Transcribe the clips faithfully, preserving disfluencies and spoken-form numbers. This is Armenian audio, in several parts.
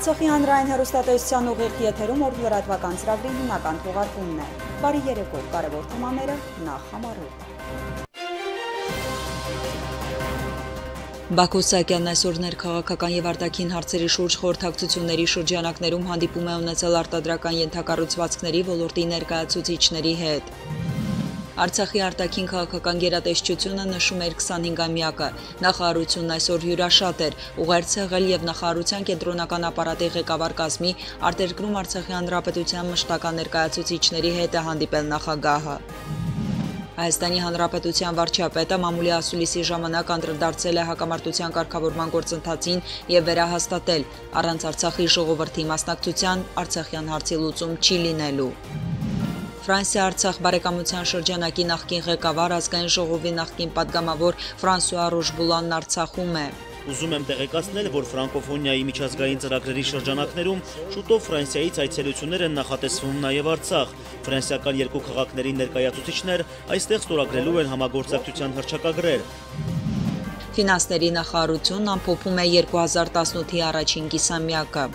Արցախի հանրային հեռուստատեսության ուղիղ եթերում օր լրատվական ծրագրի հիմնական թողարկումն է։ Բարի երեկո, կարևոր թեմաները նախ համարոտ։ Բաքո Սահակյանն այսօր ներքաղաքական եւ արտաքին հարցերի շուրջ խորհրդակցությունների շրջանակներում հանդիպում է ունեցել արտադրական ենթակառուցվածքների ոլորտի ներկայացուցիչների հետ։ Արցախի արտաքին քաղաքական գերատեսչությունը նշում էր քսանհինգամյակը։ Նախարարությունն այսօր հյուրաշատ էր, ուղերձ եղել եւ նախարարության կենտրոնական ապարատի ղեկավար կազմի արտերկրում Արցախի հանրապետության մշտական ներկայացուցիչների հետ է հանդիպել նախագահը։ Հայաստանի Հանրապետության վարչապետը մամուլի ասուլիսի ժամանակ անդրադարձել է հակամարտության կարգավորման գործընթացին եւ վերահաստատել, առանց Արցախի ժողովրդի մասնակցության Արցախյան հարցի լուծում չի լինելու։ Ֆրանսիա-Արցախ բարեկամության շրջանակի նախկին ղեկավար ազգային ժողովի նախկին падգամավոր Ֆրանսուଆ Ռոժբուլանն Արցախում է։ Ուզում եմ տեղեկացնել, որ ֆրանկոֆոնիայի միջազգային ծրագրերի շրջանակներում շուտով Ֆրանսիայից այցելություններ են նախատեսվում նաև Արցախ։ Ֆրանսիական երկու քաղաքների ներկայացուցիչներ այստեղ ստորագրելու են համագործակցության հռչակագրեր։ Ֆինանսների նախարարությունն ամփոփում է երկու հազար տասնութի առաջին կիսամյակը։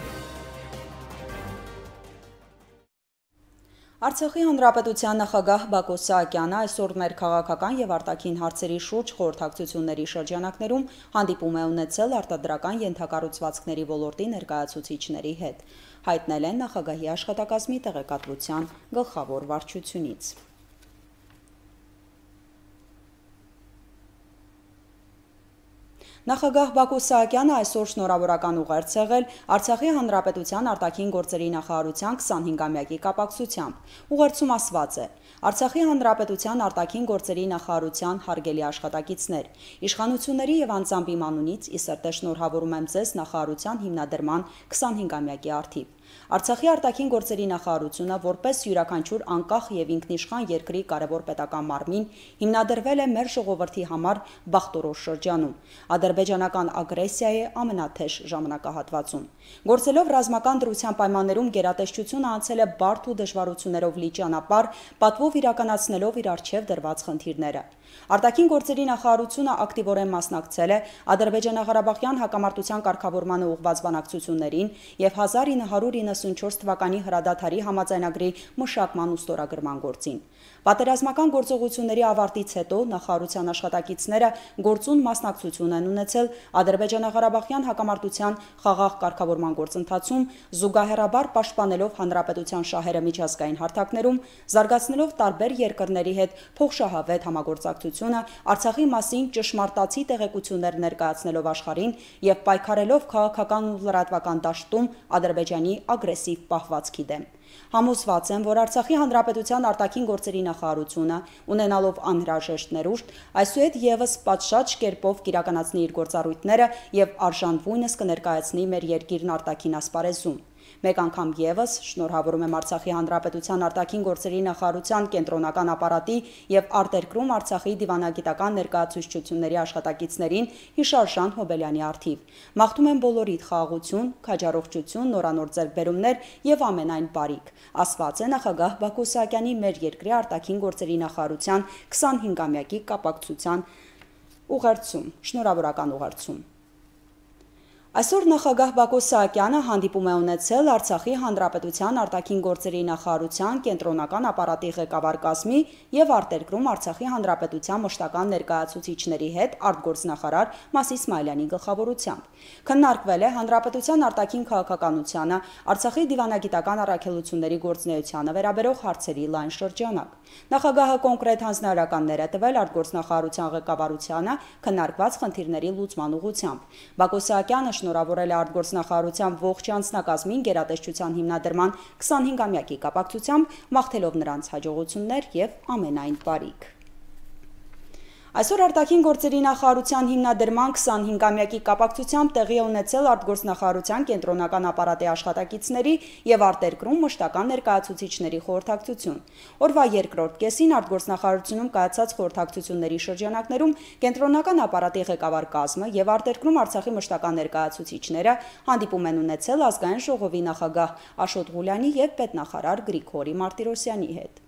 Արցախի հանրապետության նախագահ Բաքո Սահակյանը այսօր ներքաղաքական եւ արտաքին հարցերի շուրջ խորհրդակցությունների շրջանակներում հանդիպում է ունեցել արտադրական ենթակառուցվածքների ոլորտի ներկայացուցիչների հետ, հայտնել են նախագահի աշխատակազմի տեղեկատվության գլխավոր վարչությունից։ Նախագահ Բաքո Սահակյանը այսօր շնորհավորական ուղերձ եղել Արցախի հանրապետության արտաքին գործերի նախարարության քսանհինգամյակի կապակցությամբ։ Ուղերձում ասված է. Արցախի հանրապետության արտաքին գործերի նախարարության հարգելի աշխատակիցներ, իշխանությունների եւ անձամբ իմ անունից ի սրտե շնորհավորում եմ ձեզ նախարարության հիմնադրման քսանհինգամյակի առթիվ։ Արցախի արտաքին գործերի նախարարությունը որպես յուրաքանչյուր անկախ եւ ինքնիշխան երկրի կարևոր պետական մարմին հիմնադրվել է մեր ժողովրդի համար բախտորոշ շրջանում, ադրբեջանական ագրեսիայի ամենաթեժ ժամանակահատվածում։ Գործելով ռազմական դրության պայմաններում գերատեսչությունը անցել է բարդ ու դժվարություններով լի ճանապարհ, պատվով իրականացնելով իր առջև դրված խնդիրները։ Արտաքին գործերի նախարարությունը ակտիվորեն մասնակցել է Ադրբեջանա-Ղարաբաղյան հակամարտության կարգավորմանը ուղղված բանակցություններին եւ հազար ինը հարյուր իննսունչորս թվականի հրադադարի համաձայնագրի մշակման ու ստորագրման գործին։ Պատերազմական գործողությունների ավարտից հետո նախարարության աշխատակիցները գործուն մասնակցություն են ունեցել Ադրբեջանա-Ղարաբաղյան հակամարտության խաղաղ կարգավորման գործընթացում, զուգահեռաբար պաշտպանելով հանրապետության շահերը միջազգային հարթակներում, զարգացնելով տարբեր երկրների հետ փոխշահավետ համագործակցությունը, Արցախի մասին ճշմարտացի տեղեկություններ ներկայացնելով աշխարհին եւ պայքարելով քաղաքական ու լրատվական դաշտում Ադրբեջանի ագրեսիվ պահվածքի դեմ։ Համոզված եմ, որ Արցախի հանրապետության արտաքին գործերի նախարարությունը, ունենալով անհրաժեշտ ներուժ, այսուհետ եւս պատշաճ կերպով կիրականացնի իր գործառույթները եւ արժանվույնս կներկայացնի մեր երկիրն արտաքին ասպարեզում։ Մեկ անգամ եւս շնորհավորում եմ Արցախի հանրապետության արտաքին գործերի նախարարության կենտրոնական ապարատի եւ արտերկրում Արցախի դիվանագիտական ներկայացուցչությունների աշխատակիցներին Հիշարժան Հոբելյանի առթիվ։ Մաղթում եմ բոլորիդ խաղաղություն, քաջառողջություն, նորանոր ձեռքբերումներ եւ ամենայն բարիք, ասված է նախագահ Բաքո Սահակյանի մեր երկրի արտաքին գործերի նախարարության քսանհինգամյակի կապակցության ուղերձում, շնորհավորական ուղերձում։ Այսօր նախագահ Բաքո Սահակյանը հանդիպում է ունեցել Արցախի հանրապետության արտաքին գործերի նախարարության կենտրոնական ապարատի ղեկավար կազմի եւ արտերկրում Արցախի հանրապետության մշտական ներկայացուցիչների հետ արտգործնախարար Մաս Իսմայելյանի գլխավորությամբ։ Քննարկվել է հանրապետության արտաքին քաղաքականությանը, Արցախի դիվանագիտական առաքելությունների գործունեությանը վերաբերող հարցերի լայն շրջանակ։ Նախագահը կոնկրետ հանձնարարականներ է տվել արտգործնախարարության ղեկավարությանը քննարկված խնդիրների լուծման ուղղությամբ։ Բաքո Սահակյանը շնորհավորել է արտգործնախարարության ողջ անձնակազմին գերատեսչության հիմնադրման քսանհինգամյակի կապակցությամբ, մաղթելով նրանց հաջողություններ եւ ամենայն բարիք։ Այսօր արտաքին գործերի նախարարության հիմնադրման քսանհինգամյակի կապակցությամբ տեղի է ունեցել արտգործնախարարության կենտրոնական ապարատի աշխատակիցների եւ արտերկրում մշտական ներկայացուցիչների խորհրդակցություն։ Օրվա երկրորդ կեսին արտգործնախարարությունում կայացած խորհրդակցությունների շրջանակներում կենտրոնական ապարատի ղեկավար կազմը եւ արտերկրում Արցախի մշտական ներկայացուցիչները հանդիպում են ունեցել ազգային ժողովի նախագահ Աշոտ Ղուլյանի եւ պետնախարար Գրիգորի Մարտիրոսյանի հետ։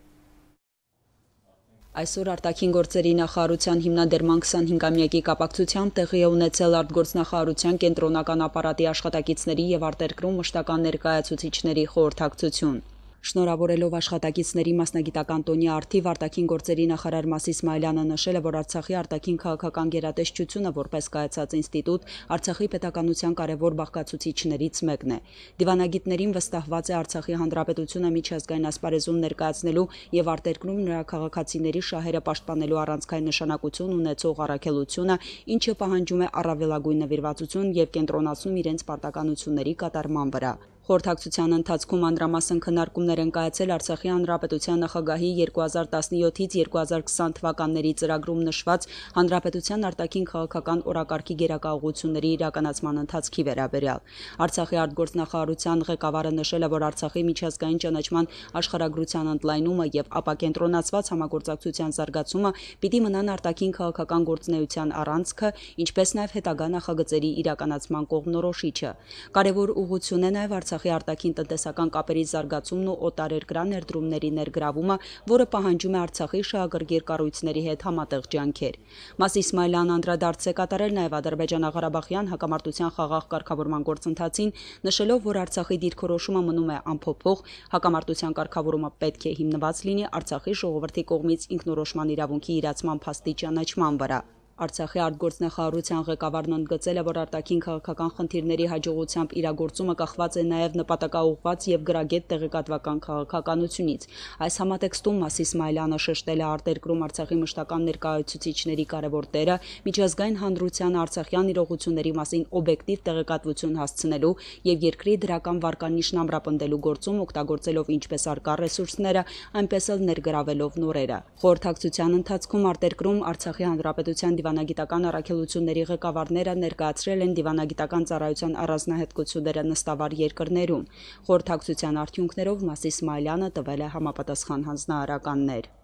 Այսօր արտաքին գործերի նախարարության հիմնադրման քսանհինգամյակի կապակցությամբ տեղի է ունեցել արտգործնախարարության կենտրոնական ապարատի աշխատակիցների եւ արտերկրում մշտական ներկայացուցիչների խորհրդակցություն։ Շնորհավորելով աշխատակիցների մասնագիտական տոնի առթիվ արտաքին գործերի նախարար Մաս Իսմայելյանը նշել է, որ Արցախի արտաքին քաղաքական գերատեսչությունը որպես կայացած ինստիտուտ Արցախի պետականության կարևոր բաղկացուցիչներից մեկն է։ Դիվանագիտներին վստահված է Արցախի հանրապետությունը միջազգային ասպարեզում ներկայացնելու եւ արտերկրում նրա քաղաքացիների շահերը պաշտպանելու առանցքային նշանակություն ունեցող առաքելությունը, ինչը պահանջում է առավելագույն նվիրվածություն եւ կենտրոնացնում իրենց պարտականությունների կատարման վրա։ Խորհրդակցության ընթացքում անդրամասն քննարկումներ են կայացել Արցախի հանրապետության նախագահի երկու հազար տասնյոթից երկու հազար քսան թվականների ծրագրում նշված հանրապետության արտաքին քաղաքական օրակարգի գերակայությունների իրականացման ընթացքի վերաբերյալ։ Արցախի արտգործնախարարության ղեկավարը նշել է, որ Արցախի միջազգային ճանաչման աշխարհագրության ընդլայնումը եւ ապակենտրոնացված համագործակցության զարգացումը պիտի մնան արտաքին քաղաքական գործունեության առանցքը, ինչպես նաեւ հետագա նախագծերի իրականացման կողմնորոշիչը։ Կարևոր ուղղություն է նաեւ Արցախի արտաքին տնտեսական կապերի զարգացումն ու օտարերկրյա ներդրումների ներգրավումը, որը պահանջում է Արցախի շահագրգիռ կառույցների հետ համատեղ ջանքեր։ Մաս Իսմայելյանը անդրադարձ է կատարել նաև ադրբեջանա-ղարաբաղյան հակամարտության խաղաղ կարգավորման գործընթացին, նշելով, որ Արցախի դիրքորոշումը մնում է անփոփոխ, հակամարտության կարգավորումը պետք է հիմնված լինի Արցախի ժողովրդի կողմից ինքնորոշման իրավունքի իրացման փաստի ճանաչման վրա։ Արցախի արտգործնախարարության ղեկավարն ընդգծել է, որ արտաքին քաղաքական խնդիրների հաջողությամբ իրագործումը կախված է նաև նպատակաուղղված եւ գրագետ տեղեկատվական քաղաքականությունից։ Այս համատեքստում Մաս Իսմայելյանը շեշտել է արտերկրում Արցախի մշտական ներկայացուցիչների կարևոր դերը միջազգային հանրությանը արցախյան իրողությունների մասին օբյեկտիվ տեղեկատվություն հասցնելու եւ երկրի դրական վարկանիշն ամրապնդելու գործում օգտագործելով ինչպես արկա ռեսուրսները, այնպես էլ ներգրավելով նորերը։ Խորհրդակցության ընթացքում արտերկրում Արցախի հանրապետության դիվանագիտական առաքելությունների ղեկավարները ներկայացրել են դիվանագիտական ծառայության առանձնահատկությունները նստավար երկրներում։ Խորհրդակցության արդյունքներով Մաս Իսմայելյանը տվել է համապատասխան հանձնարարականներ։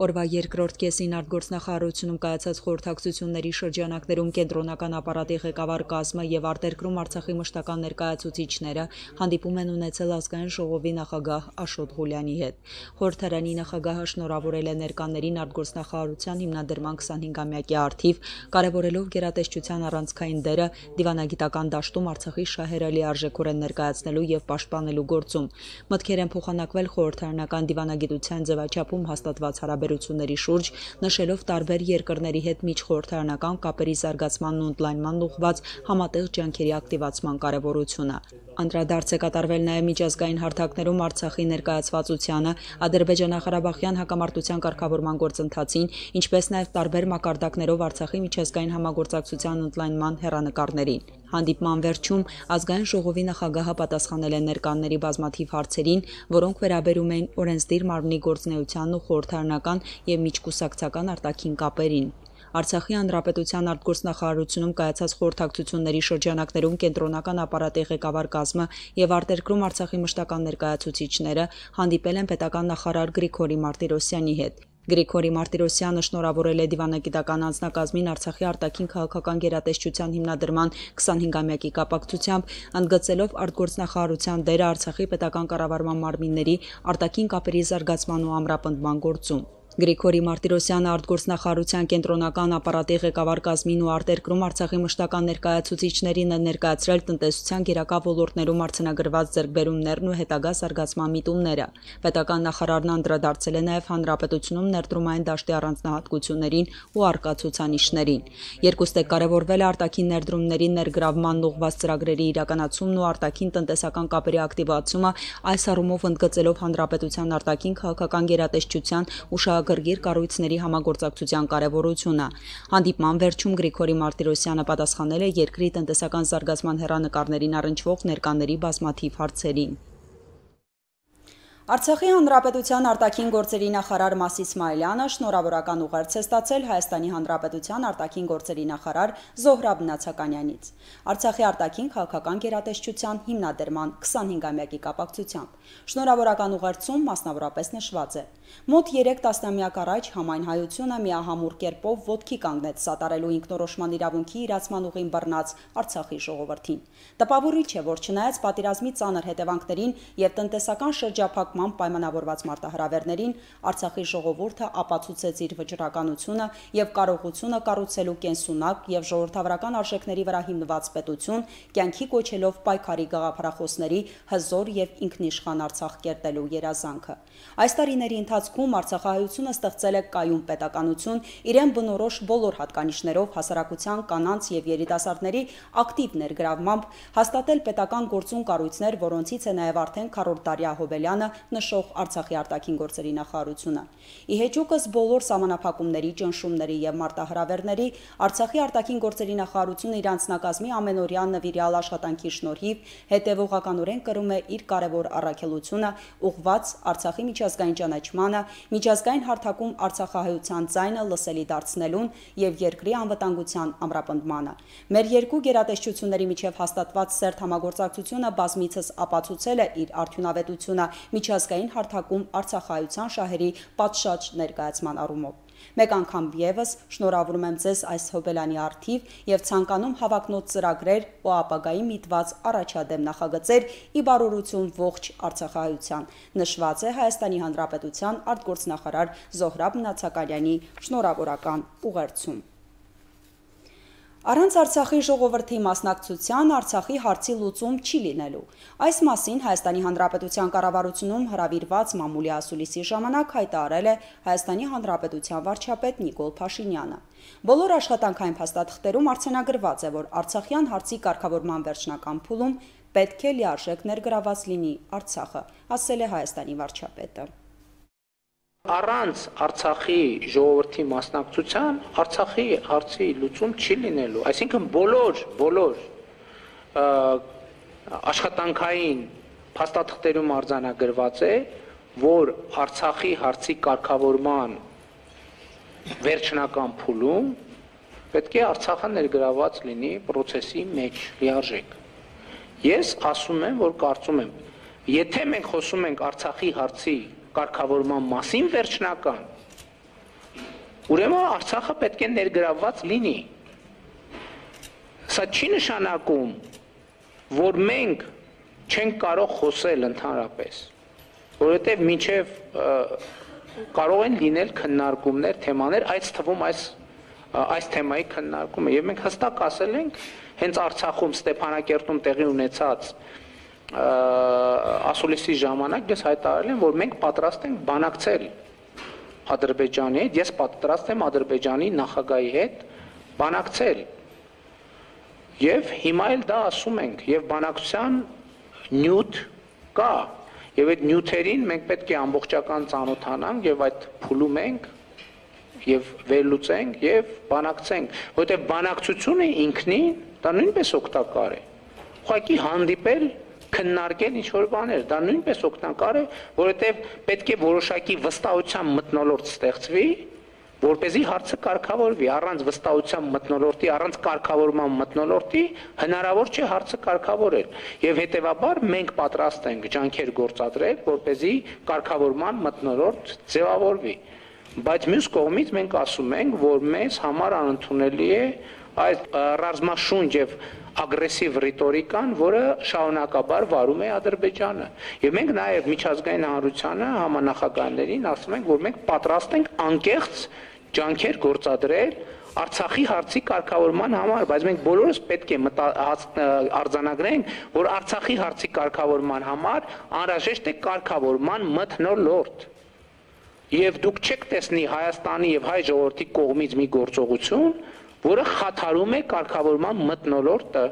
Օրվա երկրորդ կեսին արտգործնախարարությունում կայացած խորհրդակցությունների շրջանակներում կենտրոնական ապարատի ղեկավար կազմը եւ արտերկրում Արցախի մշտական ներկայացուցիչները հանդիպում են ունեցել ազգային ժողովի նախագահ Աշոտ Ղուլյանի հետ։ Խորհրդարանի նախագահը շնորհավորել է ներկաներին արտգործնախարարության հիմնադրման քսանհինգամյակի առթիվ, կարևորելով գերատեսչության առանցքային դերը դիվանագիտական դաշտում Արցախի շահերը լիարժեքորեն ներկայացնելու եւ պաշտպանելու գործում։ Մտքեր են փոխանակվել խորհրդարանական դիվանագիտության ձևաչափում հաստատված հարաբերությունների շուրջ, նշելով տարբեր երկրների հետ միջխորհրդարանական կապերի զարգացմանն ու ընդլայնմանն ուղղված համատեղ ջանքերի ակտիվացման կարևորությունը։ Անդրադարձ է կատարվել նաև միջազգային հարթակներում Արցախի ներկայացվածությանը, ադրբեջանա-ղարաբաղյան հակամարտության կարգավորման գործընթացին, ինչպես նաև տարբեր մակարդակներով Արցախի միջազգային համագործակցության ընդլայնման հեռանկարներին։ Հանդիպման վերջում ազգային ժողովի նախագահը պատասխանել է ներկաների բազմաթիվ հարցերին, որոնք վերաբերում էին օրենսդիր մարմնի գործունեությանն ու խորհրդարանական եւ միջկուսակցական արտաքին կապերին։ Արցախի հանրապետության արտգործնախարարությունում կայացած խորհրդակցությունների շրջանակներում կենտրոնական ապարատի ղեկավար կազմը եւ արտերկրում Արցախի մշտական ներկայացուցիչները հանդիպել են պետական նախարար Գրիգորի Մարտիրոսյանի հետ։ Գրիգորի Մարտիրոսյանը շնորհավորել է դիվանագիտական անձնակազմին Արցախի արտաքին քաղաքական գերատեսչության հիմնադրման քսանհինգամյակի կապակցությամբ, ընդգծելով արտգործնախարարության դերը Արցախի պետական կառավարման մարմինների արտաքին կապերի զարգացման ու ամրապնդման գործում։ Գրիգորի Մարտիրոսյանը արտգործնախարարության կենտրոնական ապարատի ղեկավար կազմին ու արտերկրում Արցախի մշտական ներկայացուցիչներին ներկայացրել տնտեսության գերակա ոլորտներում արձանագրված ձեռքբերումներն ու հետագա զարգացման միտումները։ Պետական նախարարն անդրադարձել է նաև հանրապետությունում ներդրումային դաշտի առանձնահատկություններին ու առկա ցուցանիշներին։ Երկուստեք կարևորվել է արտաքին ներդրումների ներգրավմանն ուղղված ծրագրերի իրականացումն ու արտաքին տնտեսական կապերի ակտիվացումը, այս առումով ընդգծելով հանրապետության արտաքին քաղաքական գերատեսչության ու գրգիր կառույցների համագործակցության կարևորությունը։ Հանդիպման վերջում Գրիգորի Մարտիրոսյանը պատասխանել է երկրի տնտեսական զարգացման հեռանկարներին առնչվող ներկաների բազմաթիվ հարցերին։ Արցախի հանրապետության արտաքին գործերի նախարար Մաս Իսմայելյանը շնորհավորական ուղերձ է ստացել Հայաստանի հանրապետության արտաքին գործերի նախարար Զոհրաբ Նացականյանից։ Արցախի արտաքին քաղաքական գերատեսչության հիմնադրման քսանհինգամյակի կապակցությամբ շնորհավորական ուղերձում մասնավորապես նշված է. Մոտ երեք տասնամյակ առաջ համայն հայությունը միահամուռ կերպով ոտքի կանգնեց սատարելու ինքնորոշման իրավունքի իրացման ուղին բռնած Արցախի ժողովրդին։ Տպավորիչ է, որ չնայած պատերազմի ծանր հետևանքներին եւ տնտեսական շրջափակման նկատմամբ պայմանավորված մարտահրավերներին, Արցախի ժողովուրդը ապացուցեց իր վճռականությունը եւ կարողությունը կառուցելու կենսունակ եւ ժողովրդավարական արժեքների վրա հիմնված պետություն, կյանքի կոչելով պայքարի գաղափարախոսների հզոր եւ ինքնիշխան Արցախ կերտելու երազանքը։ Այս տարիների ընթացքում Արցախահայությունը ստեղծել է կայուն պետականություն, իրեն բնորոշ բոլոր հատկանիշներով հասարակության կանանց եւ երիտասարդների ակտիվ ներգրավմամբ, հաստատել պետական գործուն կառույցներ, որոնցից է նաեւ արդեն քառորդ տարյա Հոբելյանը նշող Արցախի արտաքին գործերի նախարարությունը։ Ի հեճուկս բոլոր սահմանափակումների, ճնշումների եւ մարտահրավերների, Արցախի արտաքին գործերի նախարարությունը իր անձնակազմի ամենօրյա նվիրյալ աշխատանքի շնորհիվ հետևողականորեն կրում է իր կարևոր առաքելությունը ուղղված Արցախի միջազգային ճանաչմանը, միջազգային հարթակում արցախահայության ձայնը լսելի դարձնելուն եւ երկրի անվտանգության ամրապնդմանը։ Մեր երկու գերատեսչությունների միջև հաստատված սերտ համագործակցությունը բազմիցս ապացուցել է իր արդյունավետությունը միջազգային հարթակում արցախահայության շահերի պատշաճ ներկայացման առումով։ Մեկ անգամ եւս շնորհավորում եմ ձեզ այս Հոբելյանի առթիվ եւ ցանկանում հավակնոտ ծրագրեր ու ապագայի միտված առաջադեմ նախագծեր ի բարօրություն ողջ արցախահայության, նշված է Հայաստանի Հանրապետության արտգործնախարար Զոհրաբ Նացականյանի շնորհավորական ուղերձում։ Առանց Արցախի ժողովրդի մասնակցության Արցախի հարցի լուծում չի լինելու։ Այս մասին Հայաստանի Հանրապետության կառավարությունում հրավիրված մամուլի ասուլիսի ժամանակ հայտարարել է Հայաստանի Հանրապետության վարչապետ Նիկոլ Փաշինյանը։ Բոլոր աշխատանքային փաստաթղթերում արձանագրված է, որ Արցախյան հարցի կարգավորման վերջնական փուլում պետք է լիարժեք ներգրաված լինի Արցախը, ասել է Հայաստանի վարչապետը։ Առանց Արցախի ժողովրդի մասնակցության Արցախի հարցի լուծում չի լինելու, այսինքն բոլոր բոլոր աշխատանքային փաստաթղթերում արձանագրված է, որ Արցախի հարցի կարգավորման վերջնական փուլում պետք է Արցախը ներգրաված լինի process-ի մեջ լիարժեք։ Ես ասում եմ, որ կարծում եմ, եթե մենք խոսում ենք Արցախի հարցի կարգավորման մասին վերջնական, ուրեմն Արցախը պետք է ներգրավված լինի։ Սա չի նշանակում, որ մենք չենք կարող խոսել ընդհանրապես, որովհետև մինչև կարող են լինել քննարկումներ, թեմաներ, այս թվում այս այս թեմայի քննարկումը, եւ մենք հստակ ասել ենք, հենց Արցախում Ստեփանակերտում տեղի ունեցած ասուլիսի ժամանակ ես հայտարարել եմ, որ մենք պատրաստ ենք բանակցել Ադրբեջանի հետ, ես պատրաստ եմ Ադրբեջանի նախագահի հետ բանակցել։ Եվ հիմա էլ դա ասում ենք, եւ բանակցության նյութ կա, եւ այդ նյութերին մենք պետք է ամբողջական ծանոթանանք եւ այդ փուլում ենք եւ վերլուծենք եւ բանակցենք, որովհետեւ բանակցությունը ինքնին դա նույնպես օգտակար է։ Ուղղակի հանդիպել քննարկել ինչ-որ բաներ, դա նույնպես օգտակար է, որովհետև պետք է որոշակի վստահության մթնոլորտ ստեղծվի, որպեսզի հարցը կարգավորվի, առանց վստահության մթնոլորտի, առանց կարգավորման մթնոլորտի հնարավոր չէ հարցը կարգավորել, եւ հետեւաբար մենք պատրաստ ենք ջանքեր գործադրել, որպեսզի կարգավորման մթնոլորտ ձևավորվի, բայց մյուս կողմից մենք ասում ենք, որ մեզ համար անընդունելի է այս ռազմաշունչ եւ ագրեսիվ ռիտորիկան, որը շարունակաբար վարում է Ադրբեջանը։ Եվ մենք նաև միջազգային հանրությանը, համանախագահներին ասում ենք, որ մենք պատրաստ ենք անկեղծ ջանքեր գործադրել Արցախի հարցի կարգավորման համար, բայց մենք բոլորս պետք է արձանագրենք, որ Արցախի հարցի կարգավորման համար անհրաժեշտ է կարգավորման մթնոլորտ։ Եվ դուք չեք տեսնի Հայաստանի եւ հայ ժողովրդի կողմից մի գործողություն, որը խաթարում է կարգավորման մթնոլորտը։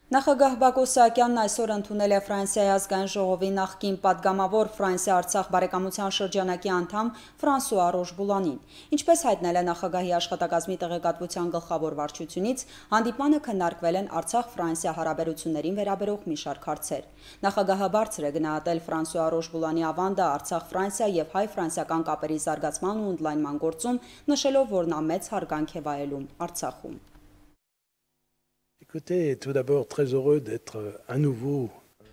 Նախագահ Բակո Սահակյանն այսօր ընդունել է Ֆրանսիայի ազգային ժողովի նախկին падգամավոր Ֆրանսիա-Արցախ բարեկամության շրջանակի անդամ Ֆրանսուଆ Ռոշբուլանին։ Ինչպես հայտնել է նախագահի աշխատակազմի տեղեկատվության գլխավոր վարչությունից, հանդիպմանը քննարկվել են Արցախ-Ֆրանսիա հարաբերություններին վերաբերող մի շարք հարցեր։ Նախագահը բարձր է գնահատել Ֆրանսուଆ Ռոշբուլանի ավանդը Արցախ-Ֆրանսիա եւ հայ-ֆրանսիական կապերի զարգացման ու ընդլայնման գործում, նշելով, որ նա մեծ հարգանք է վայելում Արցախում։ Écoutez, tout d'abord, très heureux d'être à nouveau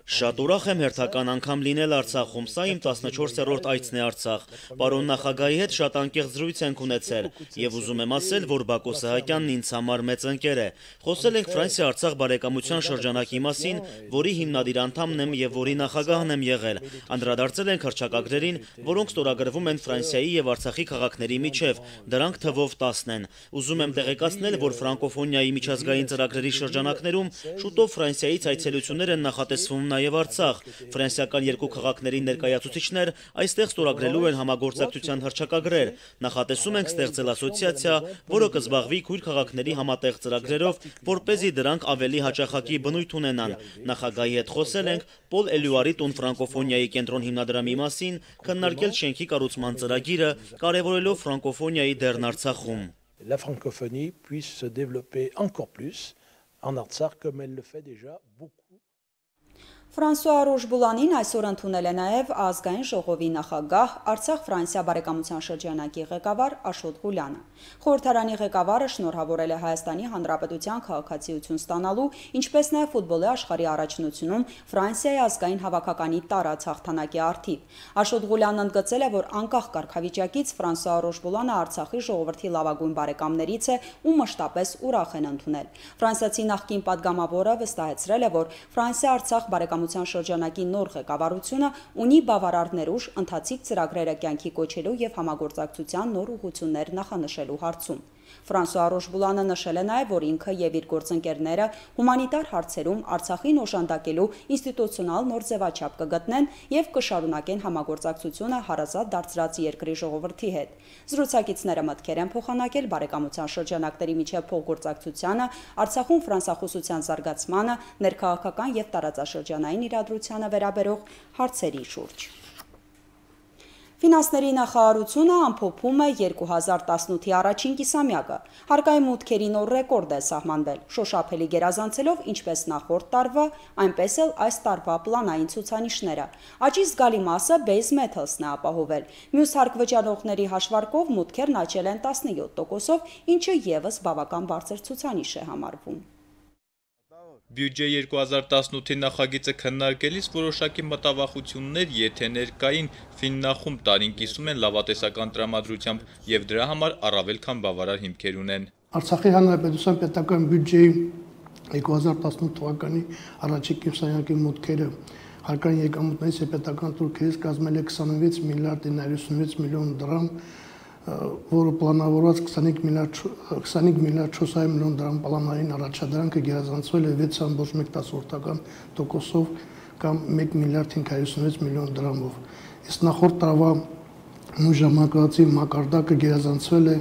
Շատ ուրախ եմ հերթական անգամ լինել Արցախում, սա իմ տասնչորսերորդ այցն է Արցախ։ Պարոն նախագահի հետ շատ անկեղծ զրույց ենք ունեցել, եւ ուզում եմ ասել, որ Բակո Սահակյանն ինձ համար մեծ ընկեր է։ Խոսել ենք Ֆրանսիա-Արցախ բարեկամության շրջանակի մասին, որի հիմնադիր անդամն եմ եւ որի նախագահն եմ եղել։ Անդրադարձել ենք հռչակագրերին, որոնք ստորագրվում են Ֆրանսիայի եւ Արցախի քաղաքների միջև, դրանք թվով տասն են։ Ուզում եմ տեղեկացնել, որ ֆրանկոֆոնիայի միջազգային ծրագրերի շրջանակներում շուտով Ֆրանսիայից այցելություններ են նախատեսվում նաև Արցախ։ Ֆրանսիական երկու քաղաքների ներկայացուցիչներ այստեղ ստորագրելու են համագործակցության հռչակագրեր։ Նախատեսում ենք ստեղծել ասոցիացիա, որը կզբաղվի քույր քաղաքների համատեղ ծրագրերով, որպեսզի դրանք ավելի հաճախակի բնույթ ունենան։ Նախագահի հետ խոսել ենք Պոլ Էլյուարի տուն ֆրանկոֆոնիայի կենտրոն հիմնադրամի մասին, քննարկել շենքի կառուցման ծրագիրը, կարևորելով ֆրանկոֆոնիայի դերն Արցախում։ La francophonie puisse se développer encore plus en Artsakh comme elle le fait déjà beaucoup. Ֆրանսուଆ Ռոժբուլանին այսօր ընդունել է նաև ազգային ժողովի նախագահ Արցախ-Ֆրանսիա բարեկամության շրջանակի ղեկավար Աշոտ Ղուլյանը։ Խորհրդարանի ղեկավարը շնորհավորել է Հայաստանի Հանրապետության քաղաքացիություն ստանալու, ինչպես նաև ֆուտբոլի աշխարհի առաջնությունում Ֆրանսիայի ազգային հավաքականի տարած հաղթանակի առթիվ։ Աշոտ Ղուլյանն ընդգծել է, որ անկախ կարգավիճակից Ֆրանսուଆ Ռոժբուլանը Արցախի ժողովրդի լավագույն բարեկամներից է ու մշտապես ուրախ են ընդունել։ Ֆրանսիացի նախկին падգամավորը վստահեցրել է, որ Ֆրանսիա-Արցախ բարեկամության շրջանակի նոր ղեկավարությունը ունի բավարար ներուժ ընթացիկ ծրագրերը կյանքի կոչելու եւ համագործակցության նոր ուղղություններ նախանշելու հարցում։ Ֆրանսուଆ Ռոժբուլանը նշել է նաև, որ ինքը եւ իր գործընկերները հումանիտար հարցերում Արցախին օժանդակելու ինստիտուցիոնալ նոր ձևաչափ կգտնեն եւ կշարունակեն համագործակցությունը հարազատ դարձրած երկրի ժողովրդի հետ։ Զրուցակիցները մտքեր են փոխանակել բարեկամության շրջանակների միջև փոխգործակցությանը, Արցախում ֆրանսախոսության զարգացմանը, ներքաղաքական եւ տարածաշրջանային իրադրությանը վերաբերող հարցերի շուրջ։ Ֆինանսների նախարարությունը ամփոփում է երկու հազար տասնութի առաջին կիսամյակը։ Հարկային մուտքերի նոր ռեկորդ է սահմանվել, շոշափելի գերազանցելով ինչպես նախորդ տարվա, այնպես էլ այս տարվա պլանային ցուցանիշները։ Աճի զգալի մասը Base Metals-ն է ապահովել։ Մյուս հարկվճարողների հաշվարկով մուտքերն աճել են տասնյոթ տոկոսով, ինչը եւս բավական բարձր ցուցանիշ է համարվում։ Բյուջե երկու հազար տասնութի նախագիծը քննարկելիս որոշակի մտավախություններ, եթե ներկային Ֆիննախում տարին կիսում են լավատեսական տրամադրությամբ եւ դրա համար առավել քան բավարար հիմքեր ունեն։ Արցախի հանրապետության պետական բյուջեի երկու հազար տասնութ թվականի առաջին կիսամյակի մուտքերը հարկային եկամուտներից եւ պետական թուրքերից կազմել է քսանվեց միլիարդ հինգսունվեց միլիոն դրամ, որը պլանավորված քսանհինգ միլիարդ չորս հարյուր միլիոն դրամ պլանային առաջադրանքը գերազանցվել է վեց ամբողջ մեկ տասնորդական տոկոսով կամ մեկ միլիարդ հինգ հարյուր հիսունվեց միլիոն դրամով։ Իսկ նախորդ տարվա նույն ժամանակահատվածի մակարդակը գերազանցվել է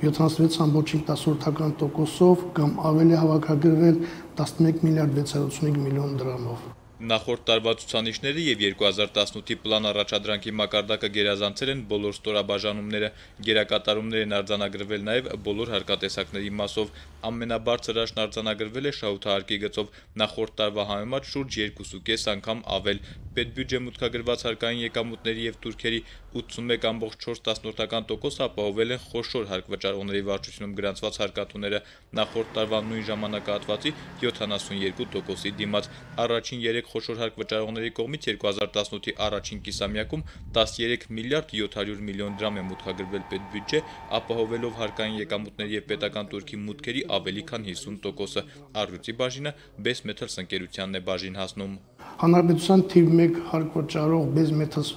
յոթանասունվեց ամբողջ հինգ տասնորդական տոկոսով կամ ավելի հավաքագրվել տասնմեկ միլիարդ վեց հարյուր ութսունհինգ միլիոն դրամով։ Նախորդ տարվա ցուցանիշները եւ երկու հազար տասնութի պլան առաջադրանքի մակարդակը գերազանցել են բոլոր ստորաբաժանումները, գերակատարումներ են արձանագրվել նաեւ բոլոր հարկատեսակների մասով, ամենաբարձր աճն արձանագրվել է շահութահարկի գծով, նախորդ տարվա համեմատ շուրջ երկուսուկես անգամ ավել։ Պետբյուջե մուտքագրված հարկային եկամուտների եւ թուրքերի ութսունմեկ ամբողջ չորս տասնորդական տոկոս ապահովել են խոշոր հարկվճարողների վարչությունում գրանցված հարկատուները, նախորդ տարվա նույն ժամանակահատվածի յոթանասունյոթ տոկոսի դիմաց։ Առաջին երեք խոշոր հարկվճարողների կողմից երկու հազար տասնութի առաջին կիսամյակում տասնյոթ միլիարդ յոթ հարյուր միլիոն դրամ է մուտքագրվել պետբյուջե, ապահովելով հարկային եկամուտների եւ պետական թուրքի մուտքերի ավելի քան հիսուն տոկոսը։ Առյուծի բաժինը Base Metals ընկերությանն է բաժին հասնում։ Հանրապետության թիվ մեկ հարկվճարող Base Metals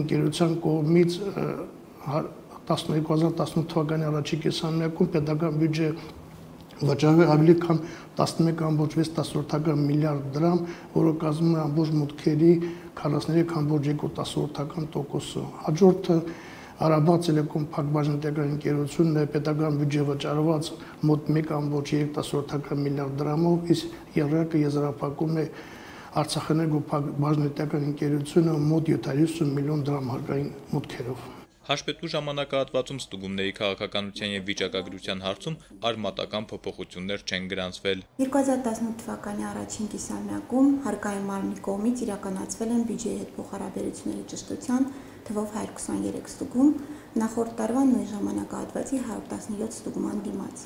ընկերության կողմից երկու հազար տասնութ թվականի առաջին կիսամյակում պետական բյուջե վճարվել ավելի քան տասնմեկ ամբողջ վեց տասնորդական միլիարդ դրամ, որը կազմում է ամբողջ մուտքերի քառասուններեք ամբողջ երկու տասնորդական տոկոսը։ Հաջորդը Արաբա Տելեկոմ փակbaşնետական ընկերությունն է պետական բյուջե վճարված մոտ մեկ ամբողջ երեք տասնորդական միլիարդ դրամով, իսկ ԵՌԿ եզրափակում է Արցախեներգո փակbaşնետական ընկերությունը մոտ յոթ հարյուր ութսուն միլիոն դրամ հարկային մուտքերով։ Հաշվետու ժամանակահատվածում ստուգումների քաղաքականության եւ վիճակագրության հարցում արմատական փոփոխություններ չեն գրանցվել։ երկու հազար տասնութ թվականի առաջին կիսամյակում հարկային մարմնի կողմից իրականացվել են բյուջեի հետ փոխհարաբերությունների ճշտության թվով հարյուր քսաներեք ստուգում, նախորդ տարվա նույն ժամանակահատվածի հարյուր տասնյոթ ստուգման դիմաց։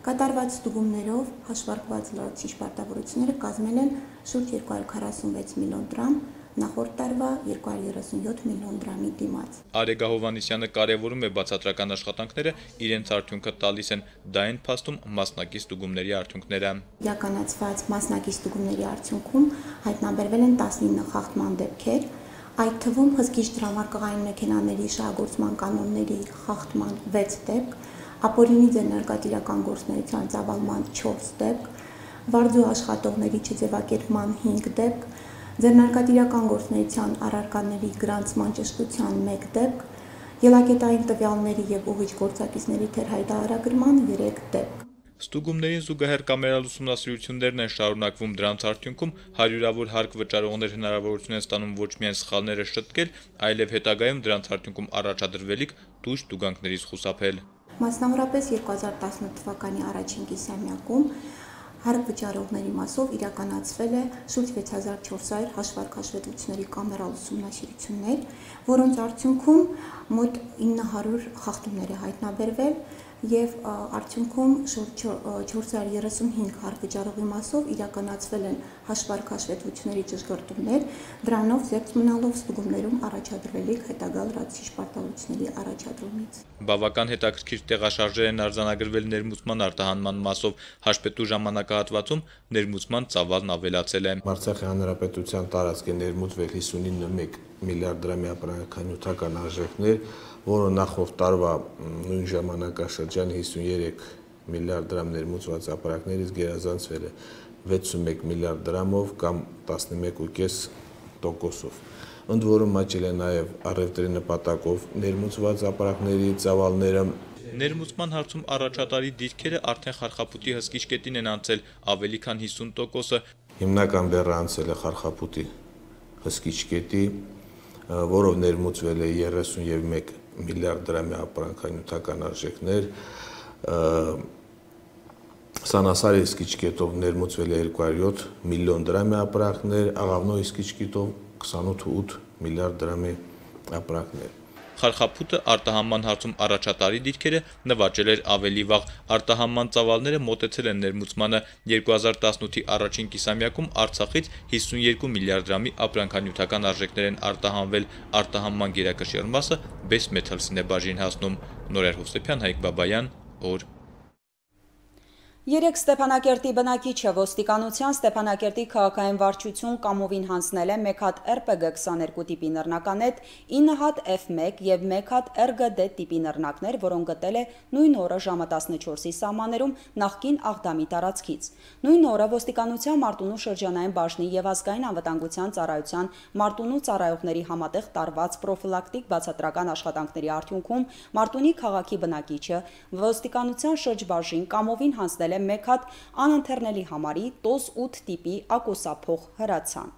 Կատարված ստուգումներով հաշվարկված լրացուցիչ պարտավորությունները կազմել են շուրջ երկու հարյուր քառասունվեց միլիոն դրամ, նախորդ տարվա երկու հարյուր երեսունյոթ միլիոն դրամի դիմաց։ Արեգա Հովհաննիսյանը կարևորում է բացատրական աշխատանքները, իրենց արդյունքը տալիս են, դա են փաստում մասնակից ստուգումների արդյունքները։ Իրականացված մասնակից ստուգումների արդյունքում հայտնաբերվել են տասնինը խախտման դեպքեր, այդ թվում հսկիչ դրամարկղային մեքենաների շահագործման կանոնների խախտման վեց դեպք, ապօրինի ձեռնարկատիրական գործունեության ծավալման չորս դեպք, վարձու աշխատողների չձևակերպման հինգ դեպք, ձեռնարկատիրական գործունեության առարկաների գրանցման ճշտության մեկ դեպք, ելակետային տվյալների եւ ուղիչ գործակիցների թերհայտարարագրման երեք դեպք։ Ստուգումներին զուգահեռ կամերալ ուսումնասիրություններն են շարունակվում, դրանց արդյունքում հարյուրավոր հարկ վճարողներ հնարավորություն են ստանում ոչ միայն սխալները շտկել, այլև հետագայում դրանց արդյունքում առաջադրվելիք տույժ տուգանքներից խուսափել։ Մասնավորապես երկու հազար տասնութ թվականի առաջին կիսամյակում հարկ վճարողների մասով իրականացվել է շուրջ վեց հազար չորս հարյուր հաշվարկ հաշվետվությունների կամերալ ուսումնասիրություններ, որոնց արդյունքում մոտ ինը հարյուր խախտումներ է հայտնաբերվել եւ արդյունքում շուրջ չորս հարյուր երեսունհինգ հարկ վճարողի մասով իրականացվել են հաշվարկ հաշվետվությունների ճշգրտումներ, դրանով զերծ մնալով ստուգումներում առաջադրվելիք հետագա լրացուցիչ պարտավորությունների առաջադրումից։ Բավական հետաքրքիր տեղաշարժեր են արձանագրվել ներմուծման արտահանման մասով, հաշվետու ժամանակահատվածում ներմուծման ծավալն ավելացել է։ Արցախի հանրապետության տարածք է ներմուծվել հիսունինը մեկ միլիարդ դրամի ապրանքանյութական արժեքներ, որը նախորդ տարվա նույն ժամանակաշրջանի հիսունյոթ միլիարդ դրամ ներմուծված ապրանքներից գերազանցվել է վեցունմեկ միլիարդ դրամով կամ տասնմեկ կόμμα պենս տոկոսով։ Ընդ որում աճել է նաև առևտրի նպատակով ներմուծված ապրանքների ծավալները։ Ներմուծման հարցում առաջատարի դիրքերը արդեն խարխապուտի հսկիչ կետին են անցել, ավելի քան հիսուն տոկոսը։ Հիմնական բեռը անցել է խարխապուտի հսկիչ կետի, որով ներմուծվել է երեսունմեկ միլիարդ դրամի ապրանքանյութական արժեքներ, Սանասարի հսկիչ կետով ներմուծվել է երկու հարյուր յոթ միլիոն դրամի ապրանքներ, Աղավնոյի հսկիչ կետով քսանութ կόμμα ութ միլիարդ դրամի ապրանքներ։ Խարխապուտը արտահանման հարցում առաջատարի դիրքերը նվաճել էր ավելի վաղ, արտահանման ծավալները մոտեցել են ներմուծմանը, երկու հազար տասնութի առաջին կիսամյակում Արցախից հիսունյոթ միլիարդ դրամի ապրանքանյութական արժեքներ են արտահանվել, արտահանման գերակշիռ մասը Best Metals-ին է բաժին հասնում։ Նորայր Հովսեփյան, Հայկ Բաբայան, օր։ Երեք Ստեփանակերտի բնակիչը ոստիկանության Ստեփանակերտի քաղաքային վարչություն կամովին հանձնել է մեկ հատ R P G քսաներկու տիպի նռնականետ, ինը հատ F մեկ եւ մեկ հատ R G D տիպի նռնակներ, որոնք գտել է նույն օրը ժամը տասնչորսի սահմաններում նախկին Աղդամի տարածքից։ Նույն օրը ոստիկանության Մարտունու շրջանային բաժնի եւ ազգային անվտանգության ծառայության Մարտունու ծառայողների համատեղ տարված պրոֆիլակտիկ բացատրական աշխատանքների արդյունքում Մարտունի քաղաքի բնակիչը ոստիկանության շրջբաժին կամովին հանձնել մեկ հատ անընթեռնելի համարի տոզ ութ տիպի ակոսափող հրացան։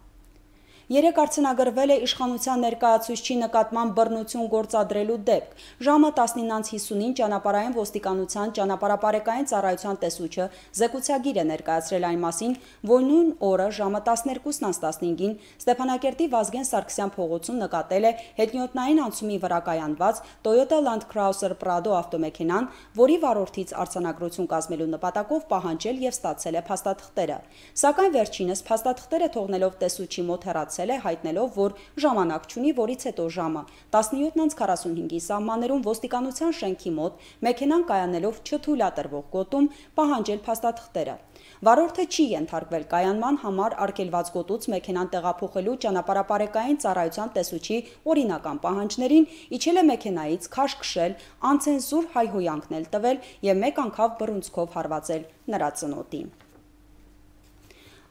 Երեք արձանագրվել է իշխանության ներկայացուցչի նկատմամբ բռնություն գործադրելու դեպք։ Ժամը տասնինը հիսունին ճանապարհային ոստիկանության ճանապարհապարեկային ծառայության տեսուչը զեկուցագիր է ներկայացրել այն մասին, որ նույն օրը ժամը տասներկուսն տասնհինգին Ստեփանակերտի Վազգեն Սարգսյան փողոցում նկատել է հետնյոտնային անցումի վրա կայանված Toyota Land Cruiser Prado ավտոմեքենան, որի վարորդից արձանագրություն կազմելու նպատակով պահանջել եւ ստացել է փաստաթղթերը։ Սակայն վերջինս փաստաթղթերը թողնելով տեսուչի մոտ հեռացել է, հայտնելով, որ ժամանակ չունի, որից հետո ժամը տասնյոթ քառասունհինգի սահմաններում ոստիկանության շենքի մոտ մեքենան կայանելով չթույլատրվող գոտում պահանջել փաստաթղթերը։ Վարորդը չի ենթարկվել կայանման համար արգելված գոտուց մեքենան տեղափոխելու ճանապարհապարեկային ծառայության տեսուչի օրինական պահանջներին, իջել է մեքենայից, քաշ քշել, անցենզուր հայհոյանքներ տվել եւ մեկ անգամ բռունցքով հարվածել նրա ծնոտին։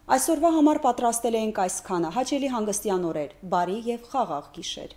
Այսօրվա համար պատրաստել էինք այսքանը, հաճելի հանգստյան օրեր, բարի եւ խաղաղ գիշեր։